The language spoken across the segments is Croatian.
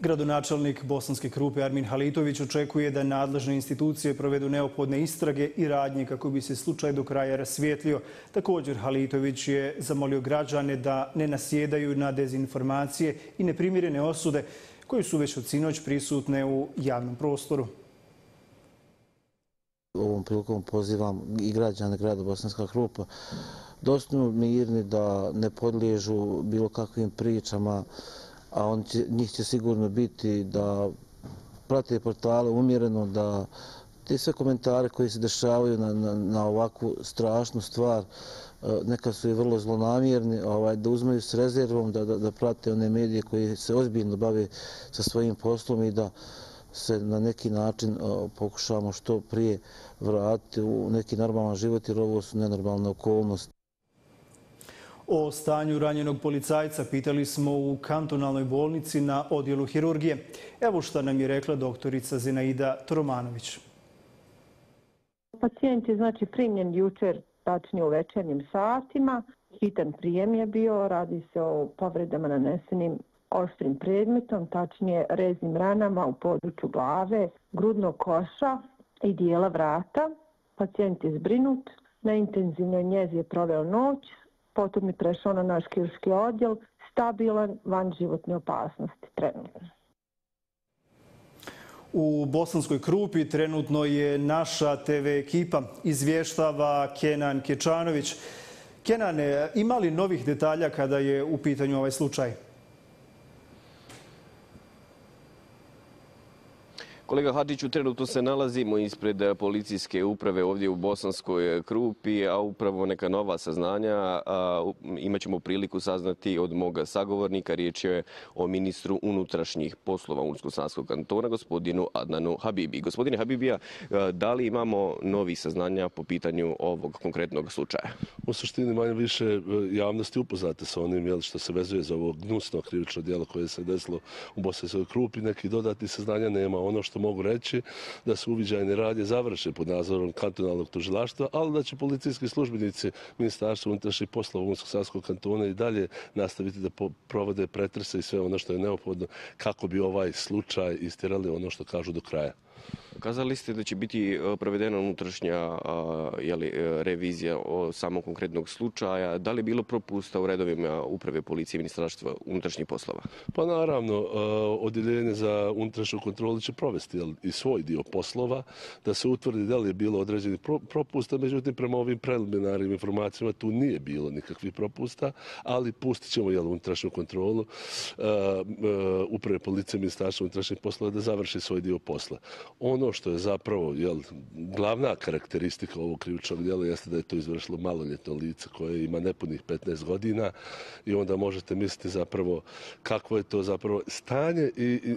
Gradonačelnik Bosanske Krupe Armin Halitović očekuje da nadležne institucije provedu neophodne istrage i radnje kako bi se slučaj do kraja rasvijetlio. Također Halitović je zamolio građane da ne nasjedaju na dezinformacije i neprimjerene osude koje su već od sinoć prisutne u javnom prostoru. Ovom prilikom pozivam i građane grada Bosanska Krupa da ostanu mirni, da ne podliježu bilo kakvim pričama, a njih će sigurno biti da prate portale umjereno, da te sve komentare koji se dešavaju na ovakvu strašnu stvar, neka su i vrlo zlonamjerni, da uzmeju s rezervom, da prate one medije koji se ozbiljno bave sa svojim poslom i da se na neki način pokušamo što prije vratiti u neki normalan život, jer ovo su nenormalne okolnosti. O stanju ranjenog policajca pitali smo u kantonalnoj bolnici na odjelu hirurgije. Evo šta nam je rekla doktorica Zenaida Toromanović. Pacijent je primljen jučer, tačnije u večernjim satima. Hitan prijem je bio, radi se o povredama nanesenim oštrim predmetom, tačnije reznim ranama u području glave, grudnog koša i dijela vrata. Pacijent je zbrinut, na intenzivnoj njezi je proveo noć, potom je prešao na naš kirurški odjel, stabilan, van životne opasnosti trenutno. U Bosanskoj Krupi trenutno je naša TV ekipa, izvještava Kenan Kečanović. Kenan, ima li novih detalja kada je u pitanju ovaj slučaj? Kolega Hadžiću, trenutno se nalazimo ispred policijske uprave ovdje u Bosanskoj Krupi, a upravo neka nova saznanja imat ćemo priliku saznati od mog sagovornika. Riječ je o ministru unutrašnjih poslova Unsko-Sanskog kantona, gospodinu Adnanu Habibi. Gospodine Habibija, da li imamo novih saznanja po pitanju ovog konkretnog slučaja? U suštini manje više javnosti upoznate sa onim što se vezuje za ovo gnusno krivično djelo koje se desilo u Bosanskoj Krupi. Neki dodatnih saznanja nema. Ono što mogu reći da su uviđajne radnje završene pod nadzorom kantonalnog tužilaštva, ali da će policijski službenici Ministarstva unutrašnjih poslova Unsko-Sanskog kantona i dalje nastaviti da provode pretrese i sve ono što je neophodno kako bi ovaj slučaj istjerali ono što kažu do kraja. Kazali ste da će biti provedena unutrašnja revizija o samog konkretnog slučaja. Da li je bilo propusta u redovima uprave policije i Ministarstva unutrašnjih poslova? Pa naravno, odjeljenje za unutrašnju kontrolu će provesti i svoj dio poslova, da se utvrdi da li je bilo određenih propusta. Međutim, prema ovim preliminarnim informacijama tu nije bilo nikakvih propusta, ali pustit ćemo unutrašnju kontrolu uprave policije i Ministarstva unutrašnjih poslova da završi svoj dio posla. Ono što je zapravo glavna karakteristika ovog krivičnog djela jeste da je to izvršilo maloljetno lice koje ima nepunih 15 godina i onda možete misliti zapravo kakvo je to zapravo stanje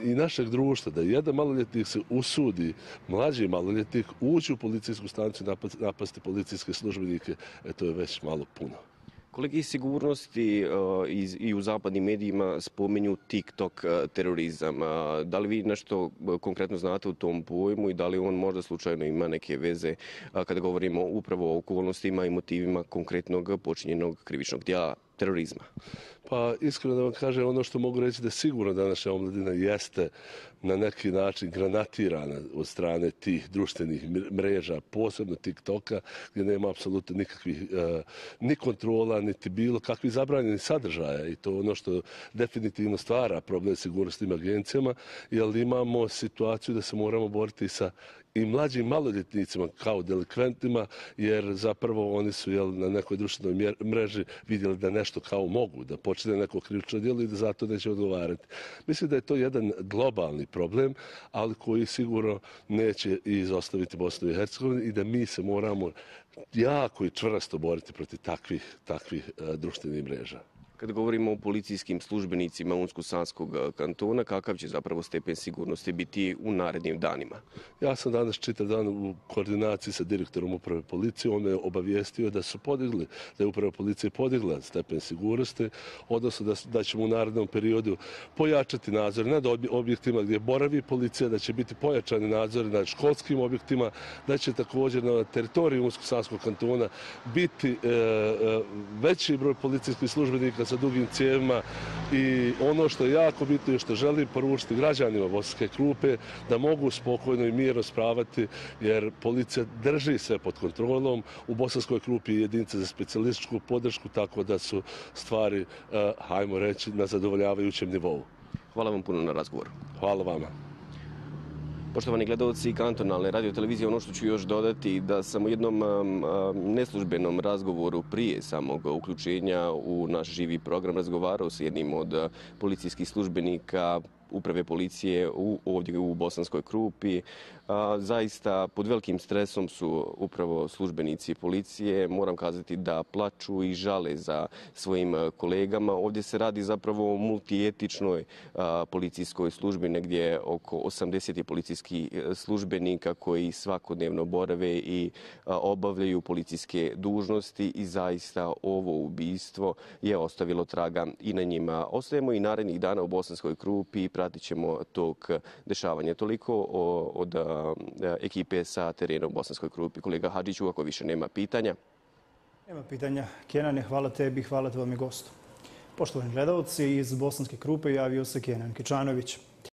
i našeg društva, da jedan maloljetnik se usudi, mlađi maloljetnik, ući u policijsku stanicu i napasti policijske službenike, to je već malo puno. Kolege iz sigurnosti i u zapadnim medijima spominju TikTok terorizam. Da li vi nešto konkretno znate o tom pojmu i da li on možda slučajno ima neke veze kada govorimo upravo o okolnostima i motivima konkretnog počinjenog krivičnog djela terorizma? Pa iskreno da vam kažem, ono što mogu reći da je sigurno današnja omladina jeste na neki način granatirana od strane tih društvenih mreža, posebno TikToka, gdje nema apsolutno nikakvih ni kontrola, niti bilo kakvih zabranjenih sadržaja i to je ono što definitivno stvara problem sigurnosnim agencijama, jer imamo situaciju da se moramo boriti sa i mlađim maloljetnicima kao delikventima, jer zapravo oni su na nekoj društvenoj mreži vidjeli da nešto kao mogu, da počne neko krivično djelo i da zato neće odgovarati. Mislim da je to jedan globalni problem, ali koji sigurno neće izostaviti Bosnu i Hercegovinu i da mi se moramo jako i čvrsto boriti protiv takvih društvenih mreža. Kad govorimo o policijskim službenicima Unsko-Sanskog kantona, kakav će zapravo stepen sigurnosti biti u narednim danima? Ja sam danas čitav dan u koordinaciji sa direktorom uprave policije. On me obavijestio da je uprava policije podigla stepen sigurnosti, odnosno da ćemo u narednom periodu pojačati nadzor nad objektima gdje boravi policija, da će biti pojačani nadzor nad školskim objektima, da će također na teritoriju Unsko-Sanskog kantona biti veći broj policijskih službenika sa dugim cijevima i ono što je jako bitno i što želim poručiti građanima Bosanske Krupe da mogu spokojno i mirno spravati jer policija drži sve pod kontrolom. U Bosanskoj Krupi je jedinica za specijalističku podršku, tako da su stvari, hajmo reći, na zadovoljavajućem nivou. Hvala vam puno na razgovoru. Hvala vama. Poštovani gledalci kantonalne radiotelevizije, ono što ću još dodati da sam u jednom neslužbenom razgovoru prije samog uključenja u naš živi program razgovarao s jednim od policijskih službenika uprave policije ovdje u Bosanskoj Krupi. Zaista pod velikim stresom su upravo službenici policije. Moram kazati da plaču i žale za svojim kolegama. Ovdje se radi zapravo o multietičnoj policijskoj službi, negdje oko 80 policijskih službenika koji svakodnevno borave i obavljaju policijske dužnosti i zaista ovo ubistvo je ostavilo traga i na njima. Ostajemo i narednih dana u Bosanskoj Krupi i pratit ćemo tog dešavanja. Toliko od ekipe sa terena u Bosanskoj Krupi. Kolega Hadžiću, ako više nema pitanja. Nema pitanja. Kenane, hvala tebi, hvala tvojom gostu. Poštovani gledalci, iz Bosanske Krupe javio se Kenan Kečanović.